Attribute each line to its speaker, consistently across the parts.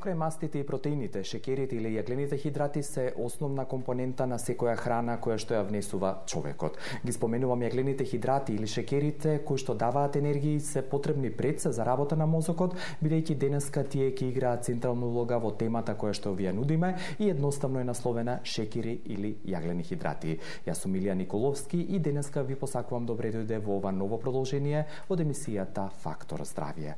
Speaker 1: Покрај мастите и протеините, шекерите или јаглените хидрати се основна компонента на секоја храна која што ја внесува човекот. Ги споменувам јаглените хидрати или шекерите кои што даваат енергија и се потребни пред се за работа на мозокот, бидејќи денеска тие ќе играат централна улога во темата која што ви ја нудиме и едноставно е насловена шекери или јаглени хидрати. Јас сум Илија Николовски и денеска ви посакувам добре дојде во ова ново продолжение од емисијата Фактор здравје.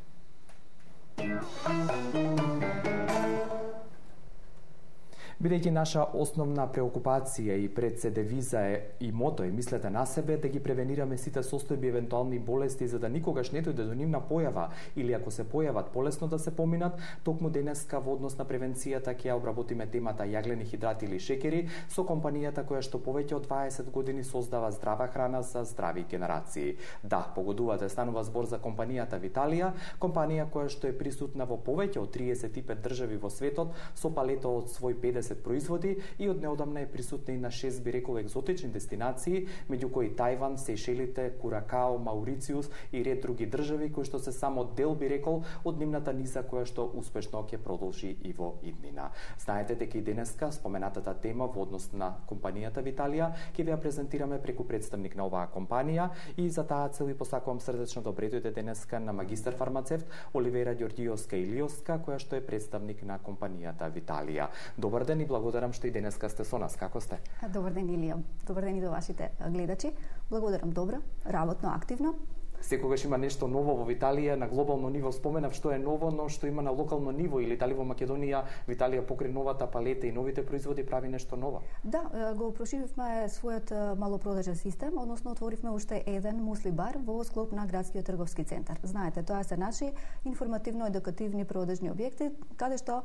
Speaker 1: Бидејќи наша основна преокупација и пред се девиза е и мото е мислете на себе, да ги превенираме сите состојби евентуални болести за да никогаш не дојде до нивна појава или ако се појават полесно да се поминат, токму денеска во однос на превенцијата ќе ја обработиме темата јаглени хидрати или шекери со компанијата која што повеќе од 20 години создава здрава храна за здрави генерации. Да, погодувате, станува збор за компанијата Виталија, компанија која што е присутна во повеќе од 35 држави во светот со палета од свој 50 производи и од неодамна е присутна и на 6 би рекол екзотични дестинации, меѓу кои Тајван, Сејшелите, Куракао, Маурициус и ред други држави кои што се само дел би рекол од нивната низа која што успешно ќе продолжи и во иднина. Знаете дека и денеска споменатата тема во однос на компанијата Виталија ќе ви ја презентираме преку представник на оваа компанија и за таа цел ви посакувам срдечно добре дојде денеска на магистар фармацевт Оливера Ѓорѓиовска Илиовска, која што е представник на компанијата Виталија. Добар ден и благодарам што и денеска сте со нас. Како сте?
Speaker 2: Добар ден, Илија. Добар ден и до вашите гледачи. Благодарам добро, работно, активно.
Speaker 1: Секогаш има нешто ново во Виталија, на глобално ниво споменав што е ново, но што има на локално ниво или дали во Македонија Виталија покрај новата палета и новите производи прави нешто ново?
Speaker 2: Да, го проширивме својот малопродажен систем, односно отворивме уште еден мусли бар во склоп на градскиот трговски центар. Знаете, тоа се наши информативно-едукативни продажни објекти, каде што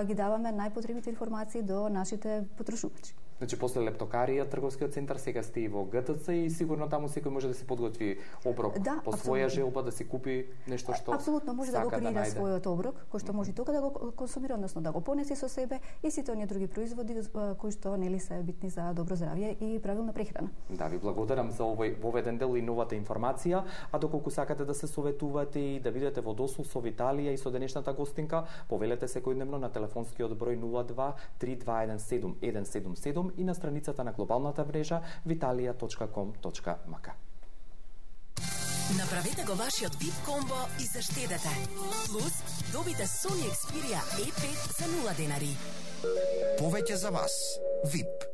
Speaker 2: ги даваме најпотребните информации до нашите потрошувачи.
Speaker 1: Значи, после лептокарија, трговскиот центар, сега сте и во ГТЦ и сигурно таму секој може да се подготви оброк по своја желба, да си купи нешто што
Speaker 2: апсолутно може да го креира својот оброк, кој што може тука да го консумира, односно да го понесе со себе и сите оние други производи кои што нели се битни за добро здравје и правилна прехрана.
Speaker 1: Да, ви благодарам за овој воведен дел и новата информација, а доколку сакате да се советувате и да видите во досул со Виталија и со денешната гостинка, повелете секојдневно на телефонскиот број 02 3217 177 и на страницата на глобалната мрежа vitalia.com.mk.
Speaker 3: Направете го вашиот VIP комбо и заштедете. Плюс, добите Sony Xperia E5 за 0 денари.
Speaker 4: Повеќе за вас. VIP.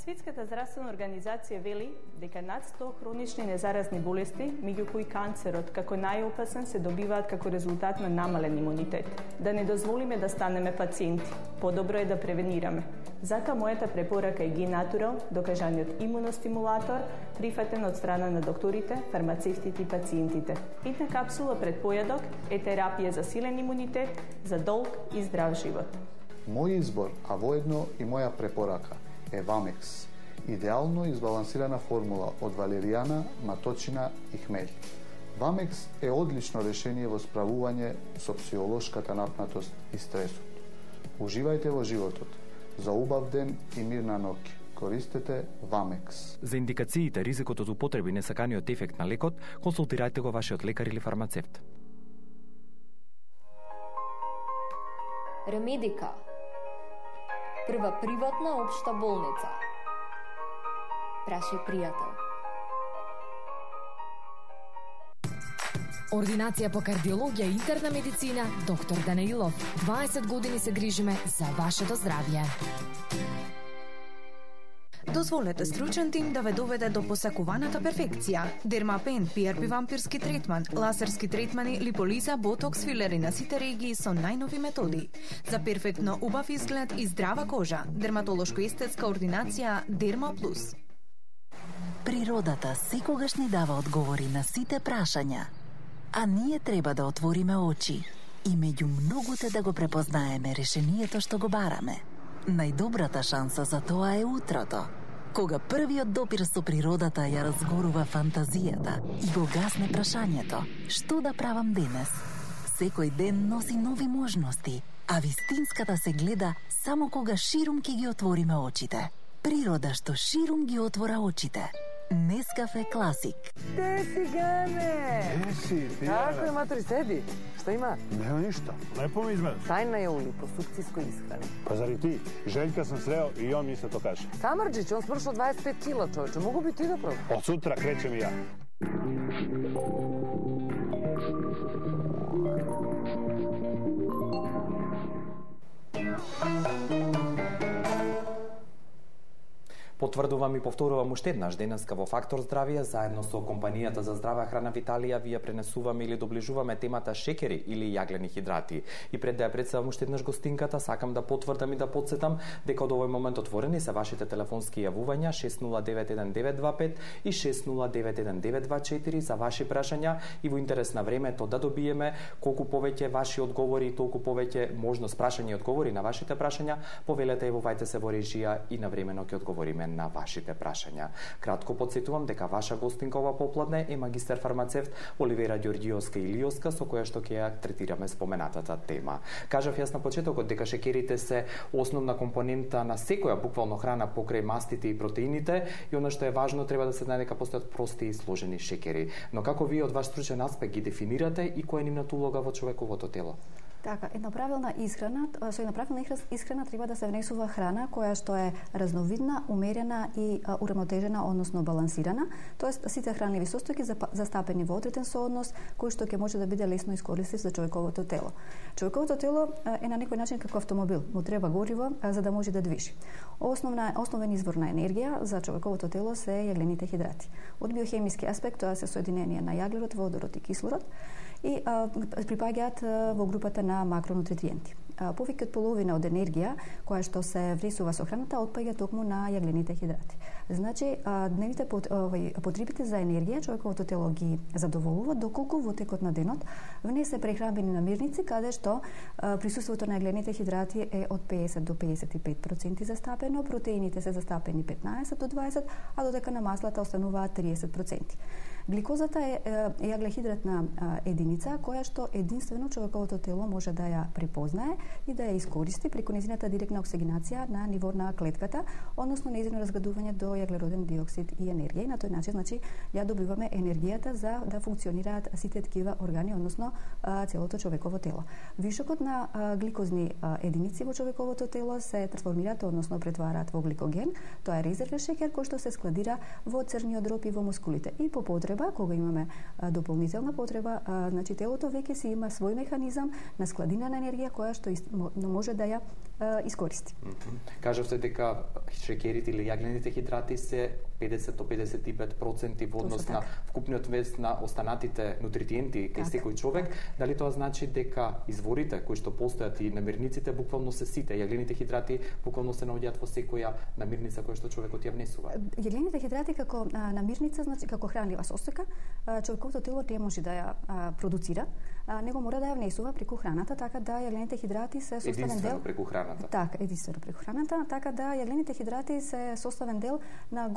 Speaker 5: Светската здравствена организација вели дека над 100 хронични незаразни болести, меѓу кои канцерот како најопасен, се добиваат како резултат на намален имунитет. Да не дозволиме да станеме пациенти. Подобро е да превенираме. Затоа мојата препорака е Г-Натурал, докажаниот имуностимулатор, прифатен од страна на докторите, фармацевтите и пациентите. Една капсула пред појадок е терапија за силен имунитет, за долг и здрав живот.
Speaker 6: Мој избор, а воедно и моја препорака е Вамекс, идеално избалансирана формула од валеријана, маточина и хмелј. Вамекс е одлично решение во справување со психолошката напнатост и стресот. Уживајте во животот. За убав ден и мирна ноќ. Користете Вамекс.
Speaker 1: За индикациите, ризикот од употреби и несаканиот ефект на лекот, консултирајте го вашиот лекар или фармацевт.
Speaker 7: Ремедика. Прва приватна општа болница. Праши пријател.
Speaker 8: Ординација по кардиологија и интерна медицина, доктор Данаилов. 20 години се грижиме за вашето здравје.
Speaker 9: Дозволете стручен тим да ве доведе до посакуваната перфекција. Дермапен, PRP вампирски третман, лазерски третмани, липолиза, ботокс, филери на сите регии со најнови методи. За перфектно убав изглед и здрава кожа. Дерматолошко-естетска ординација Дерма Плюс.
Speaker 10: Природата секогаш ни дава одговори на сите прашања. А ние треба да отвориме очи и меѓу многуте да го препознаеме решението што го бараме. Најдобрата шанса за тоа е утрото, кога првиот допир со природата ја разгорува фантазијата и го гасне прашањето што да правам денес. Секој ден носи нови можности, а вистинската се гледа само кога ширум ќе ги отвориме очите. Природа што ширум ги отвора очите. Нескафе Класик.
Speaker 11: Те си, Гане!
Speaker 12: Си, Тијана.
Speaker 11: Како е, матори, седи? Што има?
Speaker 12: Нема ништо. Лепо ми изгледаш.
Speaker 11: Тајна е ули, по сукциско исхрани.
Speaker 12: Па заради ти, Желјка сам срeo и он ми се то каже.
Speaker 11: Самарџич, он смршил 25 кила, човече. Могу би ти да пробаш?
Speaker 12: Од сутра кречем и ја.
Speaker 1: Потврдувам и повторувам уште еднаш денеска во Фактор здравје, заедно со компанијата за здрава храна Виталија, ви ја пренесуваме или доближуваме темата шекери или јаглени хидрати. И пред да ја представам уште еднаш гостинката, сакам да потврдам и да подсетам дека од овој момент отворени се вашите телефонски јавувања 6091-925 и 6091-924 за ваши прашања и во интерес на времето да добиеме колку повеќе ваши одговори и толку повеќе можност прашања и одговори на вашите прашања, повелете јавувајте се во режија и навремено ќе одговориме на вашите прашања. Кратко подсетувам дека ваша гостинка ова попладне е магистар фармацевт Оливера Ѓорѓиовска-Илиовска, со која што ќе ја третираме споменатата тема. Кажав јас на почетокот дека шекерите се основна компонента на секоја буквално храна покрај мастите и протеините и она што е важно треба да се знае дека постојат прости и сложени шекери. Но како вие од ваш стручен аспект ги дефинирате и која е нивната улога во човековото тело?
Speaker 2: Така, со една правилна исхрана треба да се внесува храна која што е разновидна, умерена и урамнотежена, односно балансирана, тоест сите хранливи состојки застапени во одреден сооднос кој што ќе може да биде лесно искористив за човековото тело. Човековото тело е на некој начин како автомобил, му треба гориво за да може да движи. Основен извор на енергија за човековото тело се јаглените хидрати. Од биохемиски аспект тоа се соединение на јаглерод, водород и кислород и припаѓаат во групата на макронутриенти. Повеќе од половина од енергија која што се внесува со храната отпаѓа токму на јаглените хидрати. Значи, дневните потребите за енергија човековото тело ги задоволува доколку во текот на денот внесе прехранбени намирници каде што присуството на јаглените хидрати е од 50 до 55% застапено, протеините се застапени 15 до 20, а додека на маслата остануваат 30%. Гликозата е јаглехидратна единица која што единствено човековото тело може да ја препознае и да ја искористи преку нејзината директна оксигенација на ниво на клетката, односно нејзино разградување до јаглероден диоксид и енергија. И на тој начин, значи, ја добиваме енергијата за да функционираат сите такива органи, односно целото човеково тело. Вишокот на гликозни единици во човековото тело се трансформираат, односно претвараат во гликоген. Тоа е резервен шекер кој што се складира во црниот дроб и во мускулите. И по потреба, кога имаме дополнителна потреба, значи телото веќе си има свој механизам на складина на енергија која што може да ја искористи.
Speaker 1: Кажавте дека шекерите или јаглените хидрати се 50 до 55% во однос на вкупниот вес на останатите нутритиенти кај секој човек. Дали тоа значи дека изворите кои што постојат и намирниците буквално се сите? Јаглените хидрати буквално се наоѓаат во секоја намирница која што човекот ја внесува?
Speaker 2: Јаглените хидрати како намирница, значи како хранлива состојка, човековото тело не може да ја продуцира, него мора да ја внесува преку храната, така да јаглените хидрати се составен дел.
Speaker 1: Единствено преку храната.
Speaker 2: Така, единствено преку храната, така да јаглените хидрати се составен дел на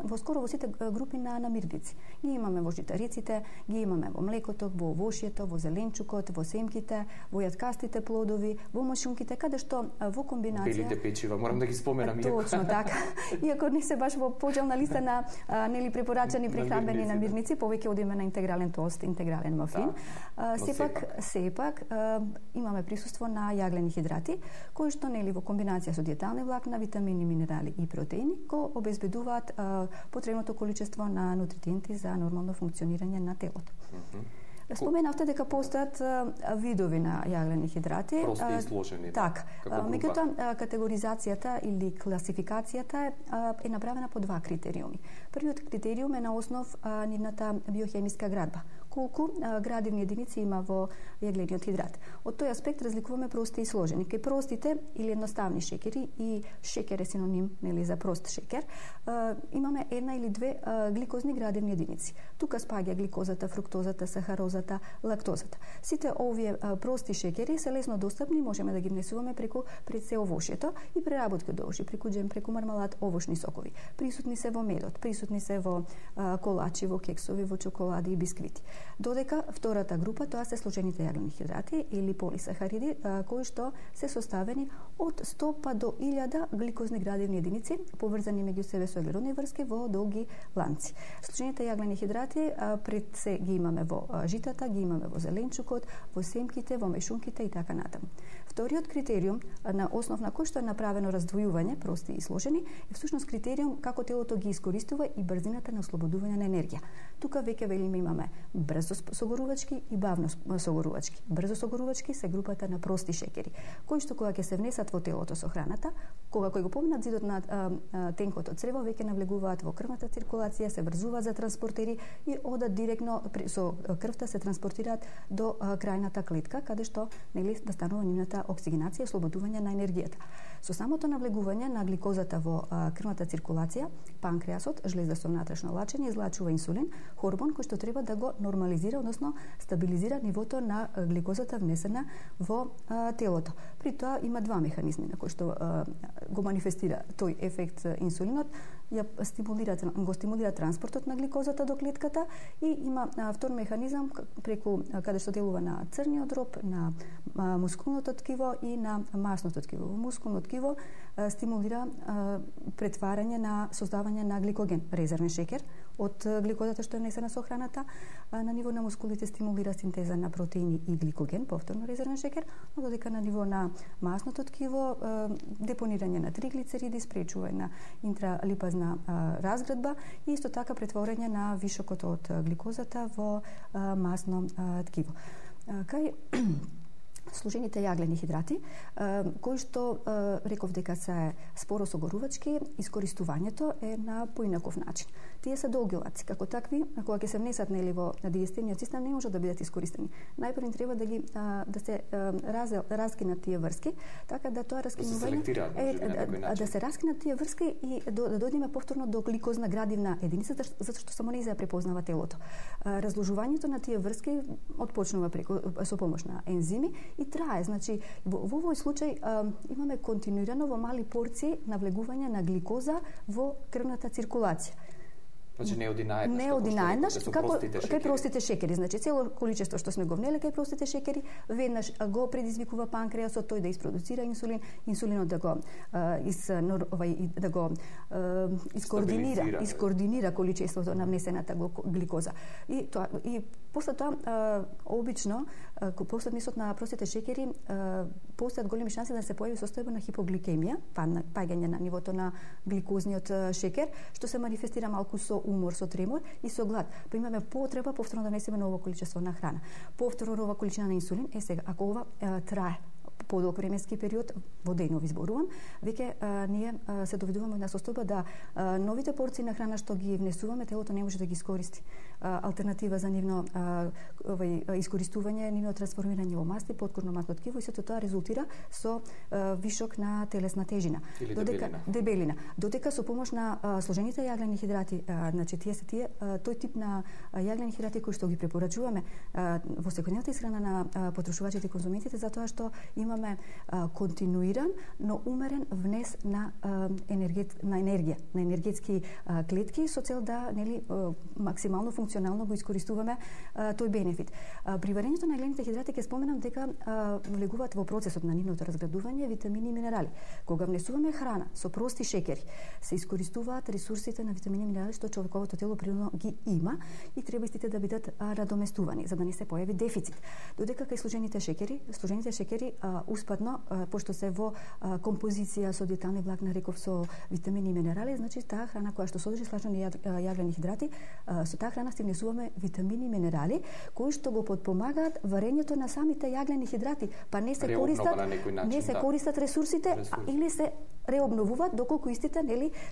Speaker 2: во скоро во сите групи на намирници. Ги имаме во житариците, ги имаме во млекото, во овошјето, во зеленчукот, во семките, во јаткастите плодови, во мошунките, каде што во комбинација
Speaker 1: белите печива, морам да ги споменам.
Speaker 2: Точно така. Иако не се баш во почелна листа на нели препорачани прехранбени намирници, повеќе одиме на интегрален тост, интегрален мафин. Сепак имаме присуство на јаглени хидрати, кои што нели во комбинација со диетални влакна, витамини, минерали и протеини го обезбедуваат потребното количество на нутритиенти за нормално функционирање на телото. Споменавте дека постојат видови на јаглени хидрати.
Speaker 1: Прости и сложени.
Speaker 2: Така. Меѓутоа, категоризацијата или класификацијата е направена по два критериуми. Првиот критериум е на основ нивната биохемиска градба. Колку градивни единици има во јаглениот хидрат. Од тој аспект разликуваме прости и сложени. Кај простите или едноставни шекери, и шекер е синоним нели за прост шекер, имаме една или две гликозни градивни единици. Тука спаѓа гликозата, фруктозата, сахарозата, лактозата. Сите овие прости шекери се лесно достапни, можеме да ги внесуваме преку пред се овошјето и преработка до овошје, преку џем, преку мармалад, овошни сокови. Присутни се во медот, присутни се во колачи, во кексови, во чоколади и бисквити. Додека втората група тоа се сложените јаглени хидрати или полисахариди кои што се составени од 100 па до 1000 гликозни градивни единици поврзани меѓу себе со въглеродни врски во долги ланци. Сложените јаглени хидрати пред се ги имаме во житата, ги имаме во зеленчукот, во семките, во мешунките и така натаму. Вториот критериум на основ на кој што е направено раздвојување, прости и сложени, е всушност критериум како телото ги искористува и брзината на ослободување на енергија. Тука веќе велиме имаме брзо согорувачки и бавно согорувачки. Брзо согорувачки се групата на прости шекери, кои што кога ќе се внесат во телото со храната, кога кој го поминат зидот на тенкото црево, веќе навлегуваат во крвната циркулација, се врзуваат за транспортери и одат директно со крвта се транспортираат до крајната клетка, каде што нели да станува нивната оксигенација и ослободување на енергијата. Со самото навлегување на гликозата во крвната циркулација, панкреасот, жлезда со внатрешно лачење, излачува инсулин, хормон кој што треба да го нормализира, односно стабилизира нивото на гликозата внесена во телото. При тоа има два механизми на кои што го манифестира тој ефект инсулинот. Го стимулира транспортот на гликозата до клетката и има втор механизам преку каде што делува на црниот дроб, на мускулното ткиво и на масното ткиво. Во мускулното ткиво стимулира претварање на создавање на гликоген, резервен шекер од гликозата што е внесена со храната. На ниво на мускулите стимулира синтеза на протеини и гликоген, повторно резервен шекер, но додека на ниво на масното ткиво депонирање на триглицериди, спречување на интралипазна разградба и исто така претворање на вишокот од гликозата во масно ткиво. Кај сложените јаглени хидрати, кои што реков дека се споро согорувачки, искористувањето е на поинаков начин. Тие се долги лаци, како такви, кога ќе се внесат нели во дигестивниот систем, не можат да бидат искористени. Најпрво треба да се раскинат тие врски, така да тоа раскинување да се раскинат тие врски и да дојдеме повторно до гликозна градивна единица, затоа што само не се препознава телото. Разложувањето на тие врски отпочнува со помош на ензими и трае. Значи, во овој случај имаме континуирано во мали порции навлегување на гликоза во крвната циркулација.
Speaker 1: Значи не оди
Speaker 2: наеднаш, како кај простите шекери. Значи цело количество што сме го внеле кај простите шекери, веднаш го предизвикува панкреасот тој да isproducира инсулин, инсулинот да го искоординира количеството на внесената гликоза. И после тоа обично после нисот на простите шекери постојат големи шанси да се појави состојба на хипогликемија, паѓање на нивото на гликозниот шекер, што се манифестира малку со умор, со тремор и со глад. Па имаме потреба повторно да внесеме ново количество на храна. Повторно нова количина на инсулин. Сега, ако ова трае подолг временски период, во денови зборувам, веќе ние се доведуваме на состојба да новите порции на храна што ги внесуваме, телото не може да ги искористи. Алтернатива за нивно искористување, нивно трансформирање во масти, подкорно масно ткиво и сето тоа резултира со вишок на телесна тежина. Дебелина. Додека со помош на сложените јаглени хидрати, значи тој тип на јаглени хидрати кои што ги препорачуваме во секојдневната исхрана на потрошувачите и конзументите, затоа што имаме континуиран, но умерен внес на енергија, на енергетски клетки со цел да максимално функционално го искористуваме тој бенефит. При варењето на јаглените хидрати ќе споменам дека влегуваат во процесот на нивното разградување витамини и минерали. Кога внесуваме храна со прости шекери, се искористуваат ресурсите на витамини и минерали што човековото тело природно ги има и треба истите да бидат надоместувани за да не се појави дефицит. Додека кај сложените шекери успатно, пошто се во композиција со диетални влакна, реков со витамини и минерали, значи таа храна која што содржи слажени јаглени хидрати, со таа храна си внесуваме витамини и минерали кои што го потпомагаат варењето на самите јаглени хидрати, па не се користат ресурсите или се реобновуваат доколку истите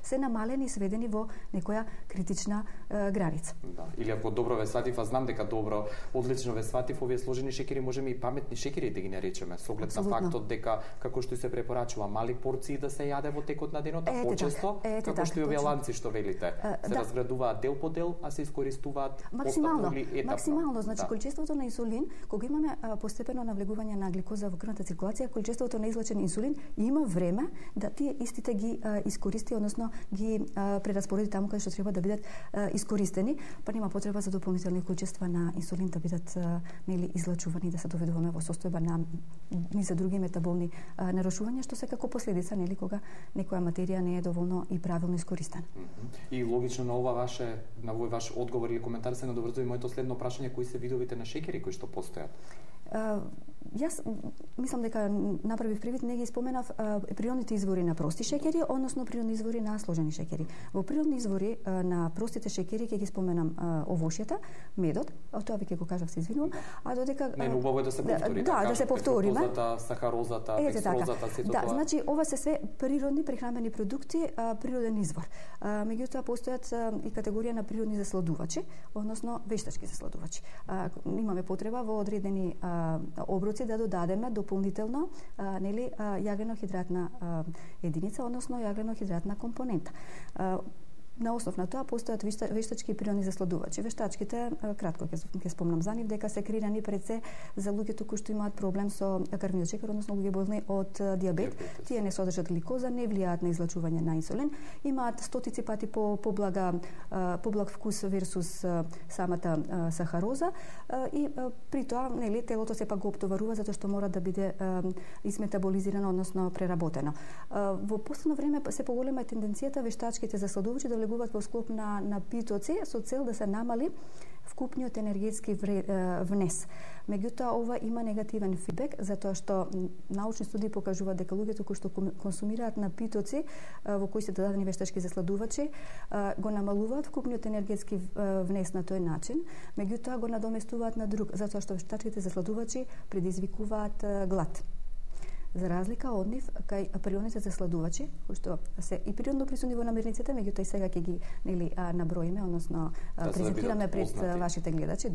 Speaker 2: се намалени и сведени во некоја критична граница.
Speaker 1: Да. Или ако добро ве сватив, а знам дека добро, одлично ве сватив, овие сложени шекери можеме и паметни шекери да ги наречеме, со оглед на фактот дека како што се препорачува мали порции да се јаде во текот на денот, а почесто како што и овие ланци што велите, се разградуваат дел по дел, а се искористуваат постапно или етапно.
Speaker 2: Максимално, значи количеството на инсулин, кога имаме постепено навлегување на гликоза во крвната циркулација, количеството на излачен инсулин има време да тие тие истите ги искористи, односно ги прераспореди таму каде што треба да бидат искористени, па нема потреба за дополнителни количества на инсулин да бидат нели излачувани, да се доведуваме во состојба на низа други метаболни нарушувања, што се како последица нели кога некоја материја не е доволно и правилно искористена.
Speaker 1: И логично на овој ваш одговор или коментар се надоврзува и моето следно прашање, кои се видовите на шеќери кои што постојат?
Speaker 2: Јас мислам дека направив привид, не ги споменав природните извори на прости шеќери, односно природни извори на сложени шеќери. Во природни извори на простите шеќери ќе ги споменам овошјата, медот, тоа веќе го кажав, се извинувам, а додека
Speaker 1: не убаво е да се повтори.
Speaker 2: Да се повториме.
Speaker 1: Фруктозата, сахарозата, декстрозата, сето тоа.
Speaker 2: Да, значи ова се све природни прехранбени продукти, природен извор. Меѓутоа постојат и категорија на природни засладувачи, односно вештачки засладувачи. Имаме потреба во одредени оброци да додадеме дополнително нели јаглено-хидратна единица, односно јаглено-хидратна компонента. На основ на тоа постојат вештачки и природни засладувачи. Вештачките, кратко ќе спомнам за нив, дека се креирани пред се за луѓето кои што имаат проблем со крвниот шекер, односно луѓе болни од дијабет. Тие не содржат гликоза, не влијаат на излачување на инсулин, имаат стотици пати поблаг вкус версус самата сахароза и при тоа нели телото сепак го оптоварува затоа што мора да биде изметаболизирано, односно преработено. Во последно време се поголема тенденцијата вештачките засладувачи да влегуваат во склоп на напитоци со цел да се намали вкупниот енергетски внес. Меѓутоа, ова има негативен фидбек, затоа што научни студии покажуваат дека луѓето кои што консумираат напитоци во кои се додадени вештачки засладувачи го намалуваат вкупниот енергетски внес на тој начин, меѓутоа го надоместуваат на друг, затоа што вештачките засладувачи предизвикуваат глад. За разлика од нив, кај природните засладувачи, кои што се и природно присутни во намирниците, меѓутоа и сега ќе ги нели наброиме, односно презентираме пред вашите гледачи,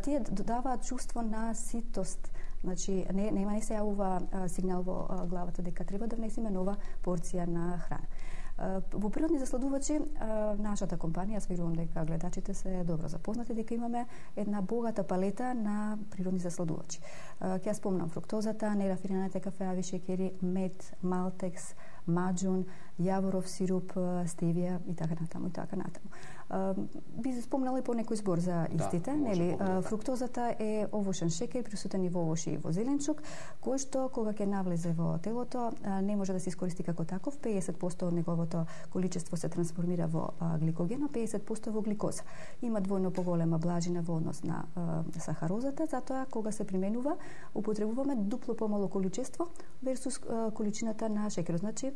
Speaker 2: тие додаваат чувство на ситост. Значи не се јавува сигнал во главата дека треба да внесеме нова порција на храна. Во природни засладувачи, нашата компанија, јас верувам дека гледачите се добро запознати, дека имаме една богата палета на природни засладувачи. Ќе ја спомнам фруктозата, нерафинираните кафеави шеќери, мед, малтекс, маџун, јаворов сируп, стевија и така натаму и така натаму. Би спомнала и по некој збор за истите, нели? Фруктозата е овошен шеќер присутен и во овошје и во зеленчук, кој што кога ќе навлезе во телото не може да се искористи како таков. 50% од неговото количество се трансформира во гликоген, а 50% во гликоза. Има двојно поголема блажина во однос на сахарозата, затоа кога се применува, употребуваме дупло помало количество версус количината на шеќерот. Значи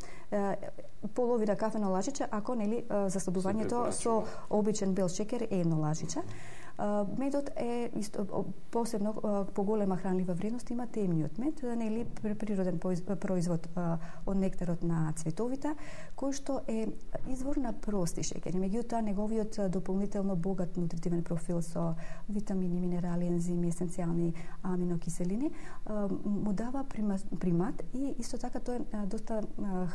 Speaker 2: половина кафено лажиче, ако нели засладувањето со обичен бел шеќер е едно лажиче. Медот е посебно поголема хранлива вредност, има темниот мед, нели природен производ од нектарот на цветовите, кој што е извор на прости шеќери. Меѓутоа неговиот дополнително богат нутритивен профил со витамини, минерали, ензими, есенцијални аминокиселини му дава примат и исто така тој е доста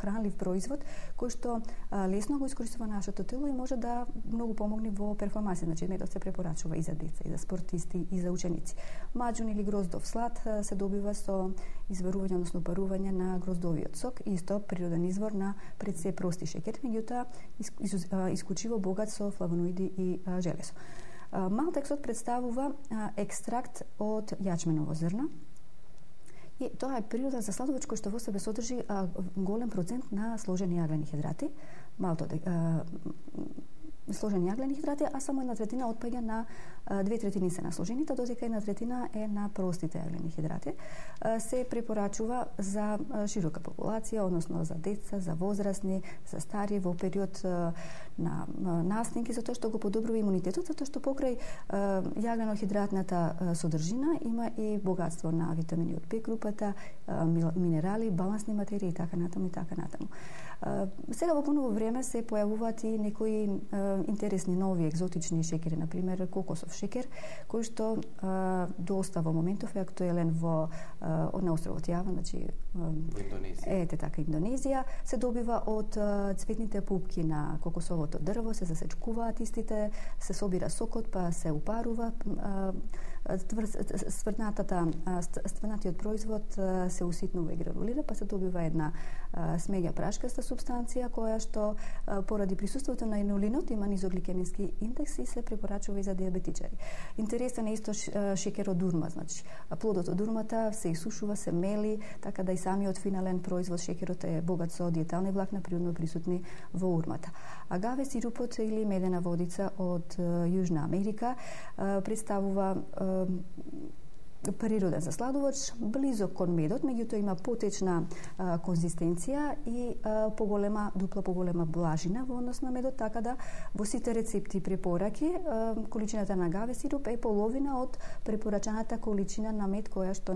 Speaker 2: хранлив производ кој што лесно го искористува нашето тело и може да многу помогне во перформанси. Значи медот се препорачува и за деца, и за спортисти, и за ученици. Маџун или гроздов слад се добива со изварување, односно парување на гроздовиот сок, исто природен извор на пред се прости шеќер, меѓутоа исклучиво богат со флавоноиди и железо. Малтексот представува екстракт од јачменово зрно, и тоа е природен засладувач кој што во себе содржи голем процент на сложени јаглени хидрати. Сложени јаглени хидрати, а само 1/3 отпаѓа на 2/3 се на сложените, додека 1/3 е на простите јаглени хидрати. Се препорачува за широка популација, односно за деца, за возрастни, за стари во период на настанки, затоа што го подобрува имунитетот, затоа што покрај јаглено-хидратната содржина има и богатство на витамини од Б групата, минерали, балансни материи и така натаму и така натаму. Сега во поново време се појавуваат и некои интересни нови екзотични шеќери, на пример кокосов шеќер, кој што доста во моментов е актуелен на островот Јава, значи Ете така Индонезија, се добива од цветните пупки на кокосовото дрво, се засечкуваат истите, се собира сокот, па се упарува, стврнатиот производ се уситнува и гранулира, па се добива една смеѓа прашкаста субстанција која што поради присуството на инулинот има низогликемински индекс и се препорачува и за диабетичари. Интересен е исто шекерот дурма, значи плодот од дурмата се исушува, се мели, така да и самиот финален производ шекерот е богат со диетални влакна природно присутни во урмата. Агаве сирупот или медена водица од Јужна Америка представува природен засладувач, близок кон медот, меѓутоа има потечна конзистенција и дупло поголема блажина во однос на медот, така да во сите рецепти и препораки количината на агаве сируп е половина од препорачаната количина на мед која што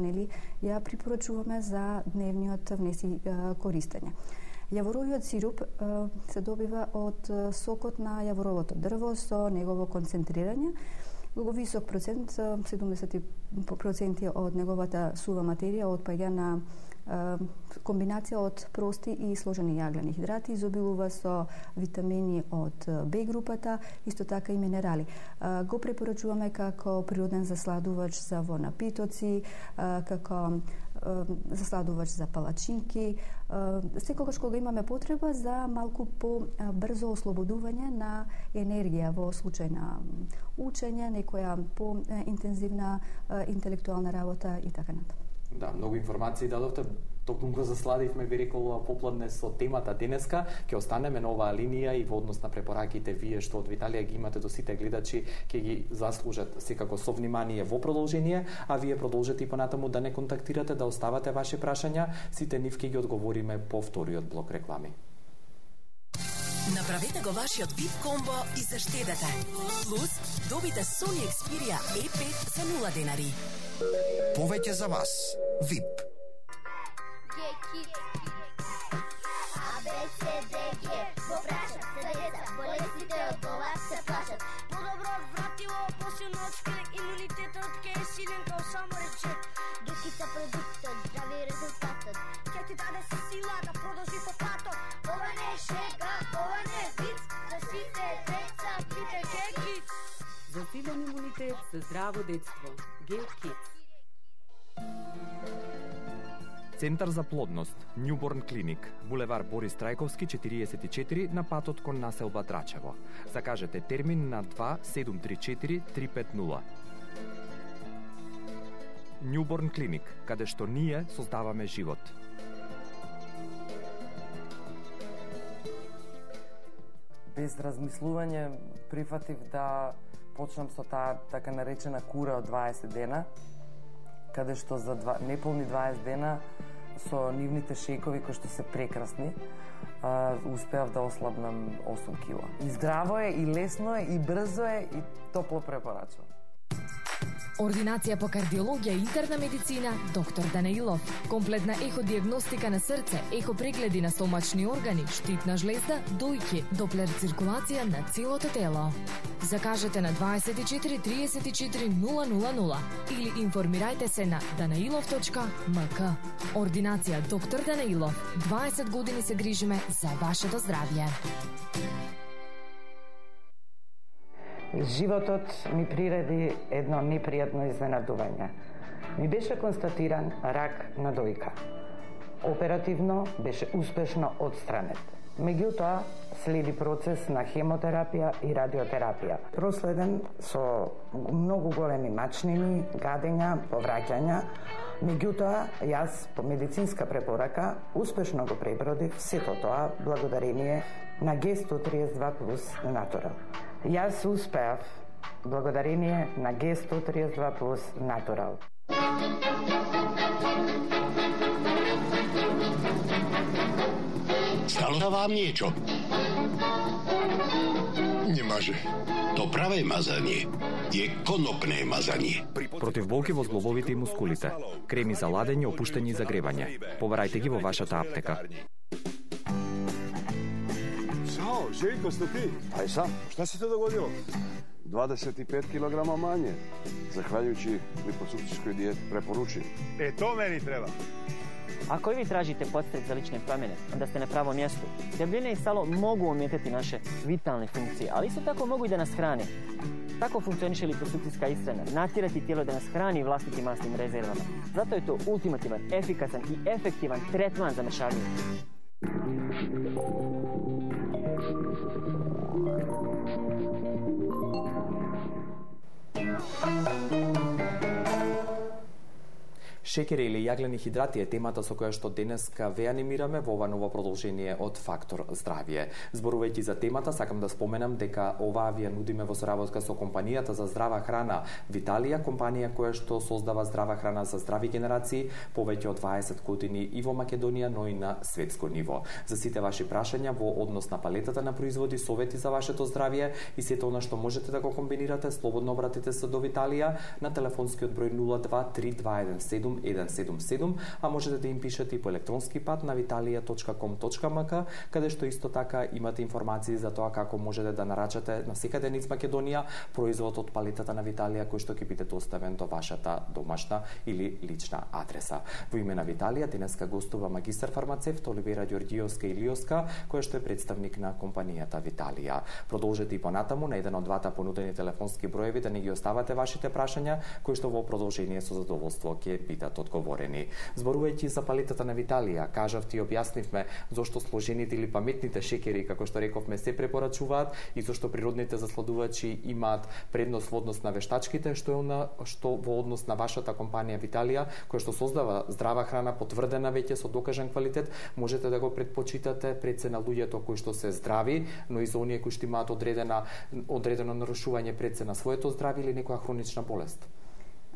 Speaker 2: ја препорачуваме за дневниот внес и користење. Јаворовиот сируп се добива од сокот на јаворовото дрво со негово концентрирање. Многу висок процент, 70% од неговата сува материја отпаѓа на комбинација од прости и сложени јаглени хидрати, изобилува со витамини од Б групата, исто така и минерали. Го препорачуваме како природен засладувач за во напитоци, како засладувач за палачинки, секогаш кога имаме потреба за малку по-брзо ослободување на енергија во случај на учење, некоја по-интензивна интелектуална работа и така натаму.
Speaker 1: Да, многу информации дадовте, токму го засладивме, би рекол, попладне со темата денеска. Ќе останеме на оваа линија и во однос на препораките вие што од Виталија ги имате до сите гледачи, ќе ги заслужат секако со внимание во продолжение, а вие продолжете и понатаму да не контактирате, да оставате ваши прашања, сите нив ќе ги одговориме по вториот блок реклами.
Speaker 3: Направете го вашиот VIP комбо и заштедете. Плюс добите Sony Xperia E5 за 0 денари.
Speaker 4: Повеќе за вас. VIP.
Speaker 13: Во прашат се деца, болестите од глава се плашат. Подобро вратило, посилно од шкрек, имунитетот ке е силен као само речет. Гекица продуктот, здрави резултатот, ке ти даде се сила да продолжи по патот. Ова не е шега, ова не е виц, за сите деца пите Гекиц.
Speaker 14: За силен имунитет, за здраво детство. Гекиц.
Speaker 1: Центар за плодност, Newborn Clinic, булевар Борис Трајковски 44 на патот кон населба Драчево. Закажете термин на 2734 350. Newborn Clinic, каде што ние создаваме живот.
Speaker 11: Без размислување прифатив да почнам со таа така наречена кура од 20 дена, каде што за неполни 20 дена со нивните шејкови кои што се прекрасни, успеав да ослабнам 8 кила. И здраво е, и лесно е, и брзо е, и топло препорачувам.
Speaker 8: Ординација по кардиологија и интерна медицина, доктор Данаилов. Комплетна еходиагностика на срце, ехопрегледи на стомачни органи, штитна жлезда, дојки, доплер циркулација на целото тело. Закажете на 24 34 000 или информирајте се на danailov.mk. Ординација доктор Данаилов. 20 години се грижиме за вашето здравје.
Speaker 15: Животот ми приреди едно непријатно изненадување. Ми беше констатиран рак на дојка. Оперативно беше успешно отстранет. Меѓутоа, следи процес на хемотерапија и радиотерапија. Проследен со многу големи мачнини, гадења, повраќања. Меѓутоа, јас по медицинска препорака успешно го пребродив сето тоа благодарение на G132+ Natural. Јас успеав благодарение на G132+ Natural.
Speaker 16: Stalo da vám niečo? Nemaže. To pravé mazanie je konopné mazanie.
Speaker 1: Против болки во зглобовите и мускулите. Креми за ладење, опуштање и загревање. Побарајте ги во вашата аптека.
Speaker 12: Ćao, Željko, ste ti? Aj sam, šta se to dogodilo? 25 kg manje, zahvaljujući liposukcijskoj dijeti, preporučujem.
Speaker 17: To meni treba. Ако и ви тражите подстрек за личne промene, onda ste na pravom mjestu. Debljine i salo mogu ometati naše vitalne funkcije, ali isto tako mogu i da nas hrane. Tako funkcioniše liposukcijska ishrana, natjerati tijelo da nas hrani vlastitim masnim rezervama. Zato je to ultimativan, efikasan i efektivan tretman za mršavljenje.
Speaker 1: Шекери или јаглени хидрати е темата со која што денеска ве анимираме во ова ново продолжение од Фактор здравје. Зборувајќи за темата, сакам да споменам дека оваа ви ја нудиме во соработка со компанијата за здрава храна Виталија, компанија која што создава здрава храна за здрави генерации повеќе од 20 години и во Македонија, но и на светско ниво. За сите ваши прашања во однос на палетата на производи, совети за вашето здравје и сето она што можете да го комбинирате, слободно обратете се до Виталија на телефонскиот број 023217 177, а можете да им пишете и по електронски пат на vitalia.com.mk, каде што исто така имате информации за тоа како можете да нарачате на секаде низ Македонија производ од палетата на Виталија кој што ќе биде доставен до вашата домашна или лична адреса. Во име на Виталија денеска гостува магистар фармацевт Оливера Ѓорѓиовска Илиовска, која што е представник на компанијата Виталија. Продолжете и понатаму на еден од двата понудени телефонски броеви да не ги оставате вашите прашања, кои што во продолжение со задоволство ќе бидат одговорени. Зборувајќи за палетата на Виталија, кажавте и објаснивме зошто сложените или паметните шекери, како што рековме, се препорачуваат и зошто природните засладувачи имаат предност во однос на вештачките, што во однос на вашата компанија Виталија, која што создава здрава храна потврдена веќе со докажан квалитет, можете да го предпочитате пред се на луѓето кои што се здрави, но и за оние кои што имаат одредено нарушување пред се на своето здравје или некоја хронична болест.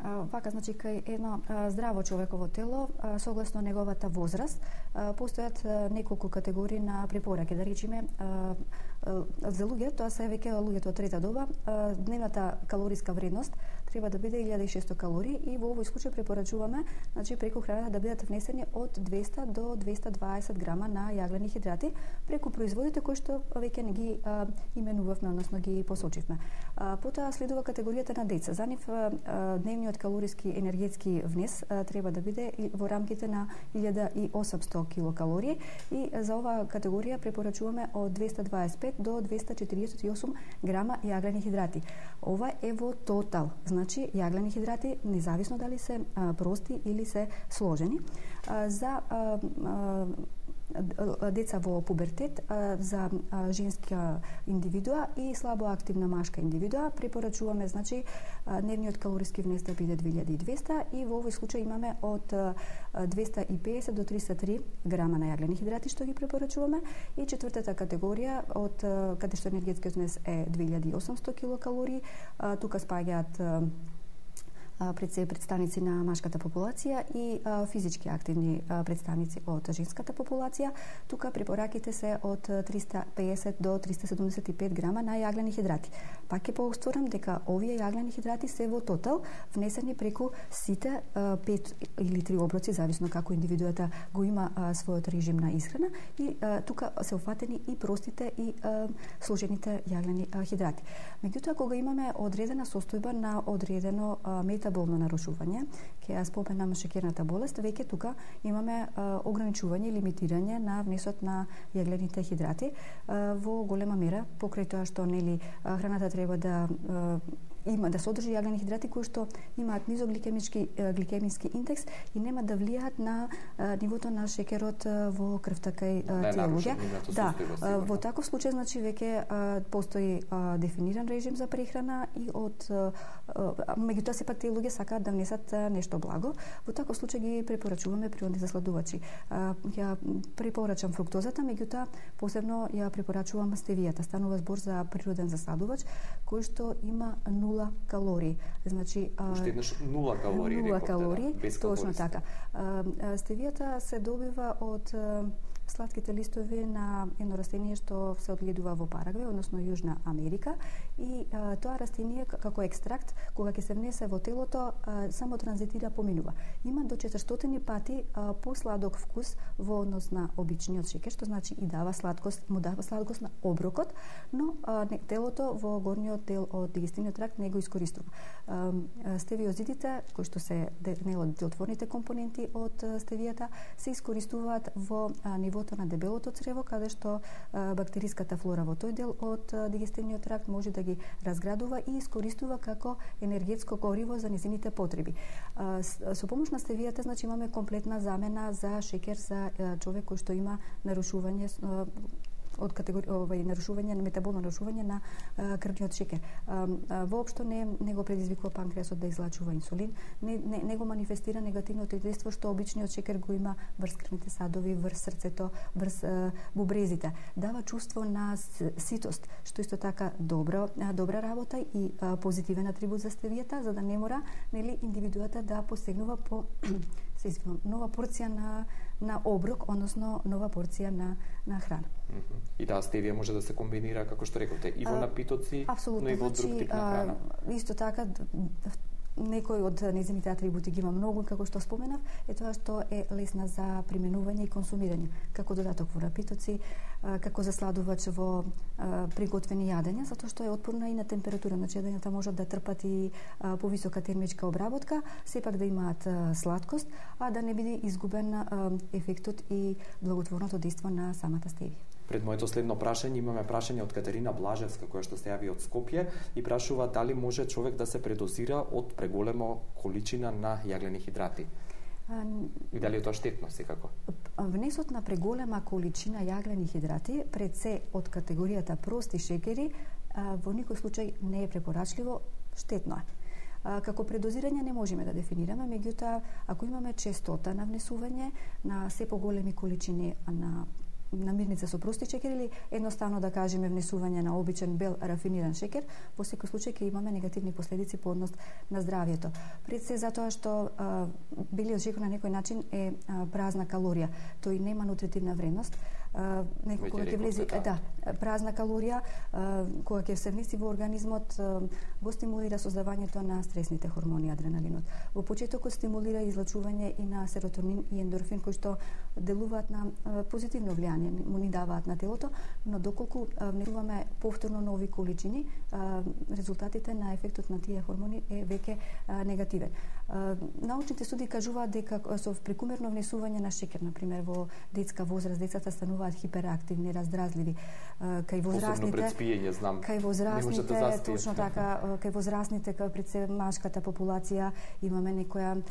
Speaker 2: Вака, значи, кај едно здраво човеково тело, согласно неговата возраст, постојат неколку категории на препораки. Да речеме, за луѓе, тоа се веќе луѓето од трета доба, дневната калориска вредност треба да биде 1600 калории и во овој случај препорачуваме, значи, преку храната да бидат внесени од 200 до 220 грама на јаглени хидрати преку производите кои што веќе не ги именувавме, односно ги посочивме. Потоа следува категоријата на деца. За нив дневниот калориски енергетски внес треба да биде во рамките на 1800 килокалории и за оваа категорија препорачуваме од 225 до 248 грама јаглени хидрати. Ова е во тотал, значи јаглени хидрати независно дали се прости или се сложени. За деца во пубертет, за женска индивидуа и слабо активна машка индивидуа препорачуваме, значи, дневниот калориски внес да биде 2200 и во овој случај имаме од 250 до 303 грама на јаглени хидрати што ги препорачуваме и четвртата категорија од каде што енергетскиот внес е 2800 килокалории, тука спаѓаат пред се представници на машката популација и физички активни представници од женската популација. Тука препораките се од 350 до 375 грама на јаглени хидрати. Пак ќе повторам дека овие јаглени хидрати се во тотал внесени преку сите 5 или 3 оброци, зависно како индивидуата го има својот режим на исхрана и тука се офатени и простите и сложените јаглени хидрати. Меѓутоа, кога имаме одредена состојба на одредено метаболно нарушување, ќе ја споменам шекерната болест, веќе тука имаме ограничување и лимитирање на внесот на јаглените хидрати во голема мера, покрај тоа што нели храната треба да има да содржи јаглени хидрати кои што имаат низок гликемиски индекс и нема да влијаат на нивото на шекерот во крвта кај тие луѓе. Да, во таков случај, значи, веќе постои дефиниран режим за прехрана и од меѓутоа сепак тие луѓе сакаат да внесат нешто благо. Во таков случај ги препорачуваме природни засладувачи. Ја препорачам фруктозата, меѓутоа посебно ја препорачувам стевијата. Станува збор за природен засладувач кој што има 0 калории. Значи,
Speaker 1: уште еднаш 0 калории.
Speaker 2: 0 калории,
Speaker 1: да,
Speaker 2: точно така. Стевијата се добива од сладките листови на едно растение што се одгледува во Парагвај, односно Јужна Америка, и тоа растение како екстракт кога ќе се внесе во телото само транзитира, поминува. Има до 400 пати посладок вкус во однос на обичниот шеќер, што значи и дава сладкост, му дава сладкост на оброкот, но телото во горниот дел од дигестивниот тракт не го искористува. Стевиозидите, кои што се делотворните компоненти од стевијата, се искористуваат во нивото на дебелото црево, каде што бактериската флора во тој дел од дигестивниот тракт може да ги разградува и искористува како енергетско гориво за незините потреби. Со помош на стевијата, значи, имаме комплетна замена за шеќер за човек кој што има нарушување од категорија нарушување, метаболно нарушување на крвниот шеќер. Воопшто не го предизвикува панкреасот да излачува инсулин, не го манифестира негативното дејство што обичниот шеќер го има врз крвните садови, врз срцето, врз бубрезите. Дава чувство на ситост, што исто така добра работа и позитивен атрибут за стевијата, за да не мора, нели, индивидуата да посегнува по нова порција на оброк, односно нова порција на храна.
Speaker 1: И да, стевија може да се комбинира, како што рековте, и во напитоци, но и во друг тип на храна.
Speaker 2: Исто така, некои од незините атрибути ги има многу, како што споменав, е тоа што е лесна за применување и консумирање, како додаток во напитоци, како засладувач во приготвени јадења, затоа што е отпорна и на температура. Значи, јадењата можат да трпат и повисока термичка обработка, сепак да имаат сладкост, а да не биде изгубен ефектот и благотворното дејство на самата стевија.
Speaker 1: Пред моето следно прашање имаме прашање од Катерина Блажевска, која што се јави од Скопје и прашува дали може човек да се предозира од преголема количина на јаглени хидрати. И дали е тоа штетно секако?
Speaker 2: Внесот на преголема количина јаглени хидрати, пред се од категоријата прости шеќери, во никој случај не е препорачливо, штетно е. Како предозирање не можеме да дефинираме, меѓутоа, ако имаме честота на внесување на се поголеми количини на намирница со прости шеќер или едноставно да кажеме внесување на обичен бел рафиниран шеќер, во секој случај ќе имаме негативни последици по однос на здравјето. Пред се затоа што белиот шеќер на некој начин е празна калорија, тој нема нутритивна вредност. Кога ќе влезе, празна калорија, кога ќе се внеси во организмот, го стимулира создавањето на стресните хормони, адреналинот. Во почетокот стимулира излачување и на серотонин и ендорфин, кои што делуваат на позитивно влијание, му ни даваат на телото, но доколку внесуваме повторно нови количини, резултатите на ефектот на тие хормони е веќе негативен. Научните студии кажуваат дека со прекумерно внесување на шеќер, например во детска возраст, децата стануваат хиперактивни, раздразливи. Кај возрастните,
Speaker 1: пред спиење, знам.
Speaker 2: Кај возрастните, точно така, кај возрастните, кај пред се машката популација имаме некоја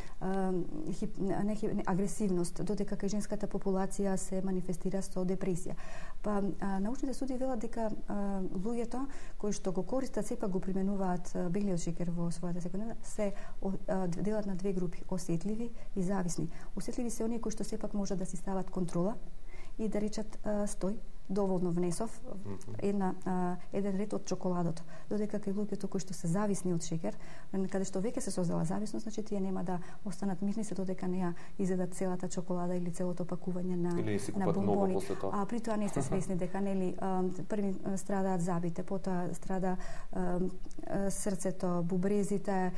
Speaker 2: агресивност, додека кај женската популација се манифестира со депресија. Па научните студии велат дека луѓето кои што го користат, сепак го применуваат белиот шеќер во својата секојдневна, се делат на две групи: осетливи и зависни. Осетливи се оние кои што сепак можат да си стават контрола и да речат стој, доволно внесов еден ред од чоколадото. Додека кај луѓето кои што се зависни од шеќер, каде што веќе се создала зависност, значи тие нема да останат мирни се додека не ја изедат целата чоколада или целото пакување на бонбони. А при тоа не сте свесни дека нели први страдаат забите, потоа страда срцето, бубрезите,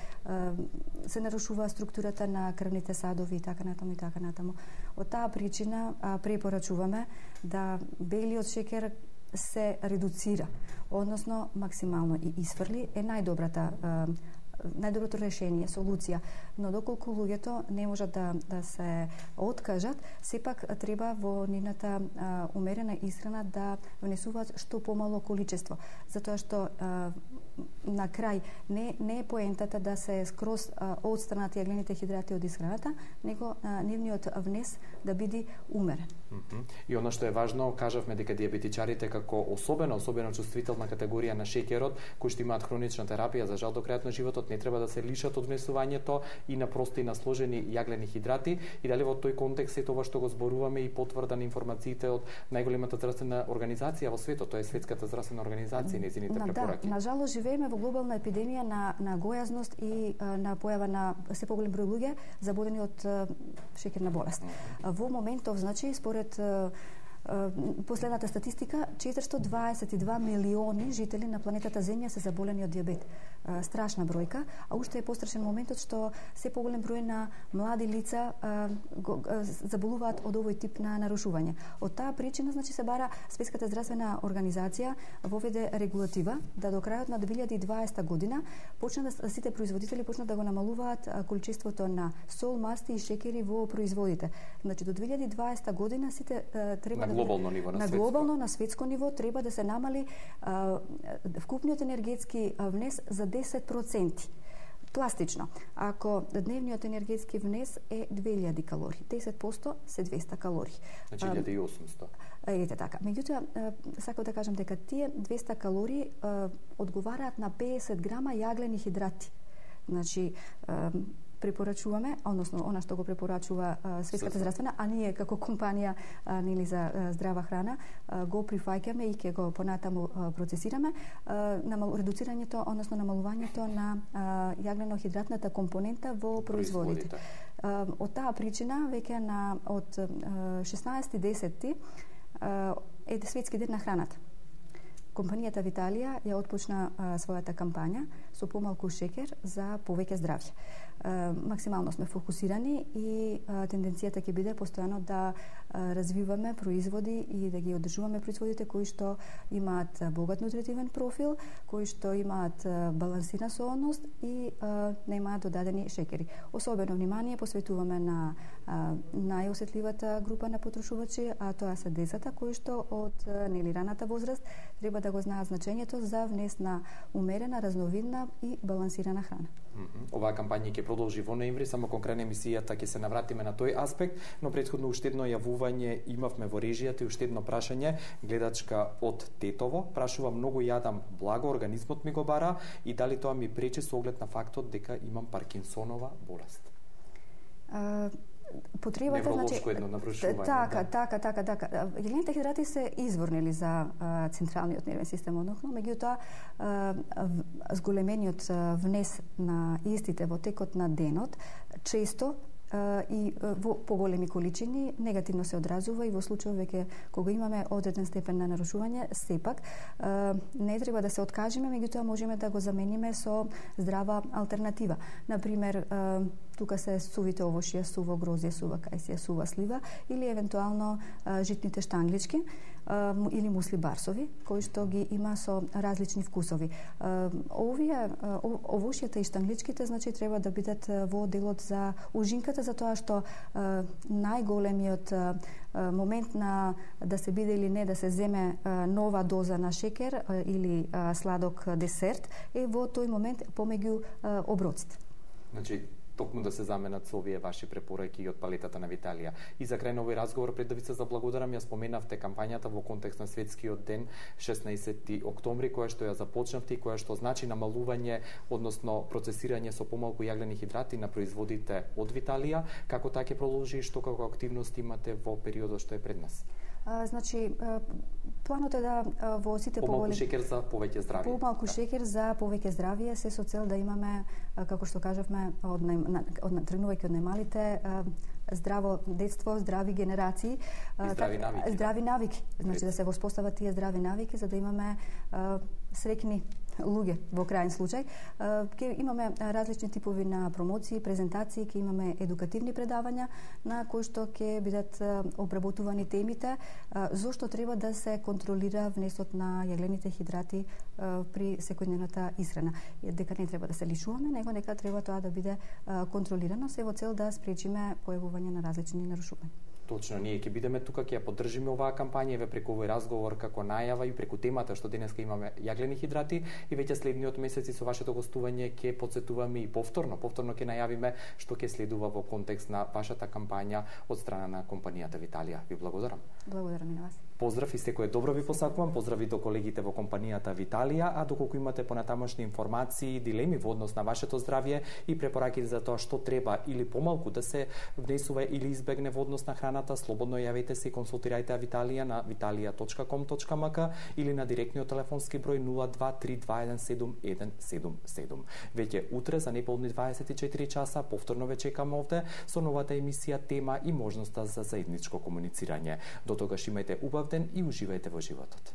Speaker 2: се нарушува структурата на крвните садови и така натаму и така натаму. Од таа причина препорачуваме да белиот шеќер се редуцира, односно максимално и изфрли, е најдоброто решение, солуција, но доколку луѓето не можат да се откажат, сепак треба во нивната умерена исхрана да внесуваат што помало количество, затоа што на крај не е поентата да се скроз отстранат јаглените хидрати од исхраната, него нивниот внес да биде умерен.
Speaker 1: И она што е важно, кажавме дека диабетичарите како особено чувствителна категорија на шеќерот, кои што имаат хронична терапија, за жал до крајот на животот не треба да се лишат од внесувањето и на прости и на сложени јаглени хидрати, и дали во тој контекст е тоа што го зборуваме и потврда на информациите од најголемата здравствена организација во светот, тоа е Светската здравствена организација и незините препораки.
Speaker 2: На жалост живееме во глобална епидемија на гојазност и на појава на се поголем број луѓе заболени од шеќерна болест. Во моментов, значи, според Последната статистика, 422 милиони жители на планетата Земја се заболени од дијабет. Страшна бројка, а уште е пострашен моментот што се поголем број на млади лица заболуваат од овој тип на нарушување. Од таа причина, значи, се бара Светската здравствена организација воведе регулатива да до крајот на 2020 година сите производители почнат да го намалуваат количеството на сол, масти и шекери во производите. Значи до 2020 година сите треба
Speaker 1: на глобално ниво,
Speaker 2: на светско ниво треба да се намали вкупниот енергетски внес за 10%. Пластично, ако дневниот енергетски внес е 2000 калории, 10% се 200 калории.
Speaker 1: Значи 1800.
Speaker 2: Ете така. Меѓутоа, сакам да кажам дека тие 200 калории одговараат на 50 грама јаглени хидрати. Значи, препорачуваме, односно она што го препорачува Светската здравствена, а ние како компанија нели за здрава храна го прифаќаме и ќе го понатаму процесираме редуцирањето, односно намалувањето на јаглено-хидратната компонента во производите. Од таа причина веќе од 16.10 е Светски ден на храната. Компанијата Виталија ја отпочна својата кампања со помалку шекер за повеќе здравје. Максимално сме фокусирани и тенденцијата ќе биде постојано да развиваме производи и да ги одржуваме производите кои што имаат богат нутритивен профил, кои што имаат балансирана соодност и не имаат додадени шекери. Особено внимание посветуваме на најосетливата група на потрошувачи, а тоа се децата кои што од раната возраст треба да го знаат значењето за внес на умерена, разновидна и балансирана храна.
Speaker 1: Оваа кампања ќе продолжи во ноември, само кон крај на емисијата ќе се навратиме на тој аспект, но претходно уште едно јавување имавме во режијата и уште едно прашање. Гледачка од Тетово прашува: многу јадам благо, организмот ми го бара и дали тоа ми пречи со оглед на фактот дека имам Паркинсонова болест?
Speaker 2: Потребата,
Speaker 1: невролошко едно навршување.
Speaker 2: Така. Јаглените хидрати се изворнели за централниот нервен систем, меѓутоа зголемениот внес на истите во текот на денот често и во поголеми количини негативно се одразува и во случај веќе кога имаме одреден степен на нарушување, сепак не треба да се откажеме, меѓутоа можеме да го замениме со здрава алтернатива. Например, тука се сувите овошје, суво грозје, сува кајсија, сува слива или евентуално житните штанглички или мусли барсови, кои што ги има со различни вкусови. Овошјата и штангличките, значи, треба да бидат во делот за ужинката, затоа што најголемиот момент на да се биде или не да се земе нова доза на шекер или сладок десерт е во тој момент помеѓу оброците.
Speaker 1: Значи, токму да се заменат со овие ваши препораки од палетата на Виталија. И за крај на овој разговор, пред да ви се заблагодарам, ја споменавте кампањата во контекст на Светскиот ден 16 октомври, која што ја започнавте и која што значи намалување, односно процесирање со помалку јаглени хидрати на производите од Виталија. Како таа ќе продолжи и што како активност имате во периодот што е пред нас?
Speaker 2: Значи, планот е да во сите
Speaker 1: помалку шекер за повеќе здравје.
Speaker 2: Помалку шекер за повеќе здравје, се со цел да имаме, како што кажавме, тргнувајќи од најмалите, здраво детство, здрави генерации, здрави навики. Значи да се воспостават тие здрави навики за да имаме среќни луѓе во крајен случај. Ќе имаме различни типови на промоции, презентации, ќе имаме едукативни предавања на кои што ќе бидат обработувани темите зошто треба да се контролира внесот на јаглените хидрати при секојдневната исхрана. Дека не треба да се лишуваме, него нека треба тоа да биде контролирано, се во цел да спречиме појавување на различни нарушувања.
Speaker 1: Точно, ние ќе бидеме тука, ќе ја поддржиме оваа кампања, еве преку овој разговор како најава и преку темата што денеска имаме јаглени хидрати и веќе следниот месец и со вашето гостување ќе потсетуваме и повторно ќе најавиме што ќе следува во контекст на вашата кампања од страна на компанијата Виталија. Ви благодарам.
Speaker 2: Благодарам и на вас.
Speaker 1: Поздрав и секое добро ви посакувам. Поздрави до колегите во компанијата Виталија, а доколку имате понатамошни информации, дилеми во однос на вашето здравје и препораки за тоа што треба или помалку да се внесува или избегне во однос на храната, слободно јавете се и консултирајте Виталија на vitalia.com.mk или на директниот телефонски број 0232171177. Веќе утре за неполни 24 часа повторно ве чекаме овде со новата емисија, тема и можноста за заедничко комуницирање. До тогаш имајте убав ден и уживајте во животот.